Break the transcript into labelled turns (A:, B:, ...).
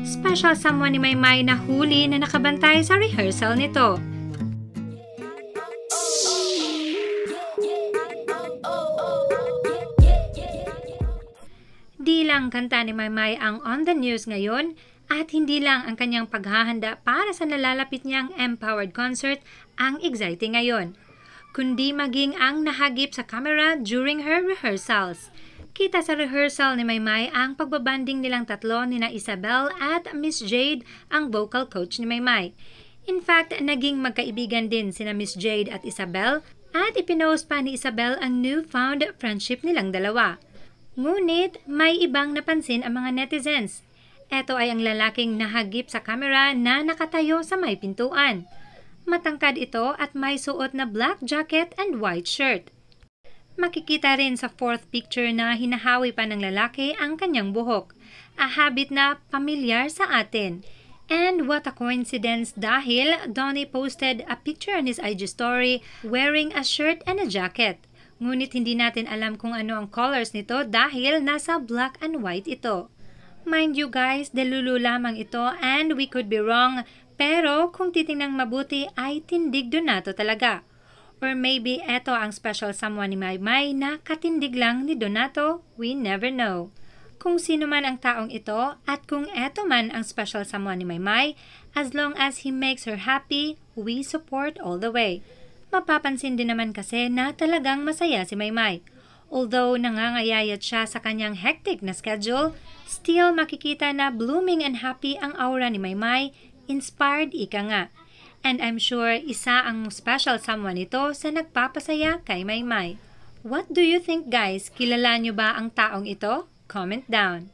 A: special someone ni Maymay na huli na nakabantay sa rehearsal nito. Di lang kanta ni Maymay ang on the news ngayon at hindi lang ang kanyang paghahanda para sa nalalapit niyang Empowered concert ang exciting ngayon, kundi maging ang nahagip sa camera during her rehearsals. Kita sa rehearsal ni Maymay ang pagbabanding nilang tatlo nina Isabel at Miss Jade, ang vocal coach ni Maymay. In fact, naging magkaibigan din sina Miss Jade at Isabel at ipinost pa ni Isabel ang newfound friendship nilang dalawa. Ngunit may ibang napansin ang mga netizens. Ito ay ang lalaking nahagip sa camera na nakatayo sa may pintuan. Matangkad ito at may suot na black jacket and white shirt. Makikita rin sa fourth picture na hinahawi pa ng lalaki ang kanyang buhok, a habit na pamilyar sa atin. And what a coincidence dahil Donnie posted a picture on his IG story wearing a shirt and a jacket. Ngunit hindi natin alam kung ano ang colors nito dahil nasa black and white ito. Mind you guys, delulu lamang ito and we could be wrong, pero kung titingnang mabuti ay tindig Donato talaga. Or maybe eto ang special someone ni Maymay na katindig lang ni Donato, we never know. Kung sino man ang taong ito at kung eto man ang special someone ni Maymay, as long as he makes her happy, we support all the way. Mapapansin din naman kasi na talagang masaya si Maymay. Although nangangayayat siya sa kanyang hectic na schedule, still makikita na blooming and happy ang aura ni Maymay, inspired ika nga. And I'm sure isa ang special someone ito sa nagpapasaya kay Maymay. What do you think guys? Kilala nyo ba ang taong ito? Comment down.